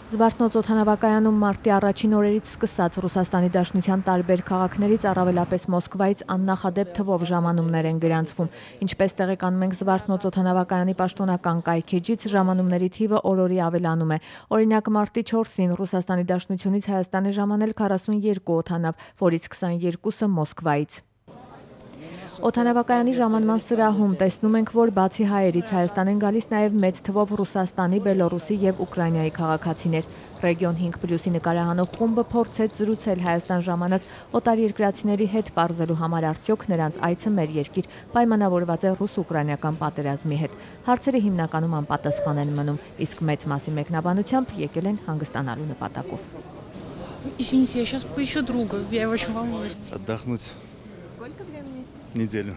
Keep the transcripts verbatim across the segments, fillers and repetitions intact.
Զվարթնոց օդանավակայանում մարտի առաջին օրերից սկսած Ռուսաստանի Դաշնության տարբեր քաղաքներից, առավելապես Մոսկվայից աննախադեպ թվով ժամանումներ են գրանցվում։ Ինչպես տեղեկանում ենք Զվարթնոց օդանավակայանի պաշտոնական կայքէջից, ժամանումների թիվը օր-օրի ավելանում է։ Օրինակ, մարտի չորսին Ռուսաստանի Դաշնությունից Հայաստան է ժամանել քառասունյոթ օդանավ, որից քսաներկուսը Մոսկվայից։ Օդանավակայանի ժամանման սրահում տեսնում ենք, որ բացի հայերից Հայաստան են գալիս նաև մեծ թվով Ռուսաստանի, Բելոռուսի և Ուկրաինայի քաղաքացիներ։ Ռեգիոն հինգ պլյուսի նկարահանող խումբը փորձեց զրուցել Հայաստան ժամանած օտարերկրացիների հետ, պարզելու համար արդյոք նրանց այցը մեր երկիր պայմանավորված է ռուս-ուկրաինական պատերազմի հետ։ Հարցերը հիմնականում անպատասխան են մնում, իսկ մեծ մասի մեկնաբանությամբ եկել են հանգստանալու նպատակով։ Извините, я сейчас поищу друга, я очень волнуюсь. Отдохнуть. Сколько времени? Неделю.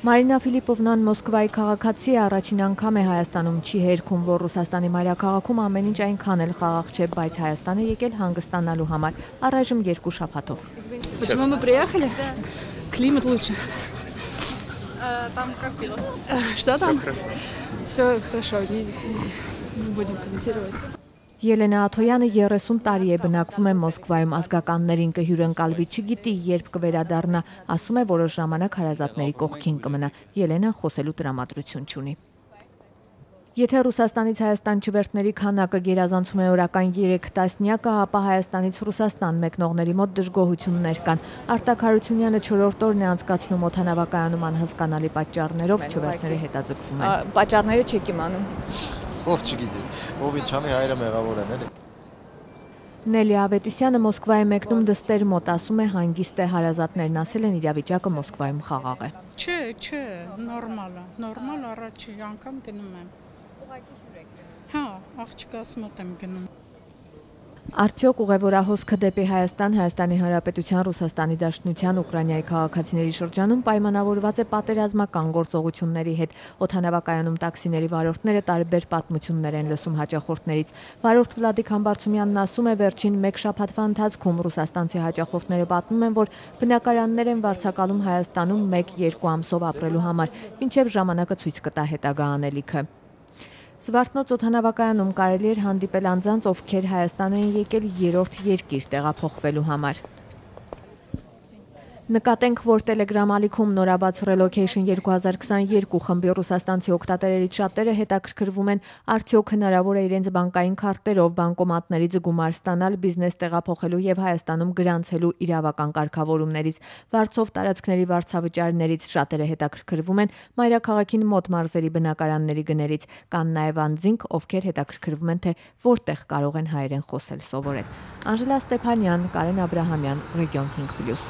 Մարինա Ֆիլիպովնան Մոսկվայի քաղաքացի է, առաջին անգամ է Հայաստանում, չի հերքում, որ Ռուսաստանի մայրաքաղաքում ամեն ինչ այնքան էլ խաղաղ չէ, բայց Հայաստան է եկել հանգստանալու համար, առայժմ երկու շաբաթով։ Почему мы приехали? Климат лучше. Там как было? Что там? Все хорошо, не будем комментировать. Ելենա Աթոյանը երեսուն տարի է բնակվում է Մոսկվայում, ազգականներին կհյուրընկալվի, չգիտի երբ կվերադառնա, ասում է որոշ ժամանակ հարազատների կողքին կմնա։ Ելենան խոսելու տրամադրություն չունի։ Եթե Ռուսաստանից Հայաստան չվերթների քանակը գերազանցում է օրական երեք տասնյակը, ապա Հայաստանից Ռուսաստան մեկնողների մոտ դժգոհություններ կան։ Արտակ Հարությունյանը չորրորդ օրն է անցկացնում օդանավակայանում անհասկանալի պատճառներով, չվերթները հետաձգվում են։ Պատճառները չեք իմանում։ Ով չգիտի, ով ինչանի հայրը մեղավոր են, էլի։ Նելի Ավետիսյանը Մոսկվայի մեկնում դստեր մոտ, ասում է հանգիստ է, հարազատներն ասել են իրավիճակը Մոսկվայում խաղաղ է։ Չէ, չէ, նորմալ է, նորմալ առաջի անգամ գնում եմ։ Ուղղակի հյուր եք գնում։ Հա, աղջկաս մոտ եմ գնում։ Արդյոք ուղևորահոսքը դեպի Հայաստան, Հայաստանի Հանրապետության, Ռուսաստանի Դաշնության, Ուկրաինայի քաղաքացիների շրջանում պայմանավորված է պատերազմական գործողությունների հետ։ Օդանավակայանում տաքսիների վարորդները տարբեր պատմություններ են լսում հաճախորդներից։ Վարորդ Վլադիկ Համբարձումյանն ասում է, վերջին մեկ շաբաթվա ընթացքում ռուսաստանցի հաճախորդները պատմում են, որ բնակարաններ են վարձակալում Հայաստանում մեկ-երկու ամսով ապրելու համար, մինչև ժամանակը ցույց կտա հետագա անելիքը։ Զվարթնոց օդանավակայանում կարելի էր հանդիպել անձանց, ովքեր Հայաստան են եկել երրորդ երկիր տեղափոխվելու համար։ Նկատենք, որ Telegram ալիքում նորաբաց Relocation երկու հազար քսաներկու խմբի ռուսաստանցի օգտատերերից շատերը հետաքրքրվում են, արդյոք հնարավոր է իրենց բանկային քարտերով բանկոմատներից գումար ստանալ բիզնես տեղափոխելու եւ Հայաստանում գրանցելու իրավական կարգավորումներից։ Վարձով տարածքների վարձավճարներից շատերը հետաքրքրվում են մայրաքաղաքին մոտ մարզերի բնակարանների գներից, կան նաեւ անձինք, ովքեր հետաքրքրվում են, թե որտեղ կարող են հայերեն խոսել սովորել։ Անժելա Ստեփանյան, Կարեն Աբրահամյան, Ռեգիոն հինգ պլյուս։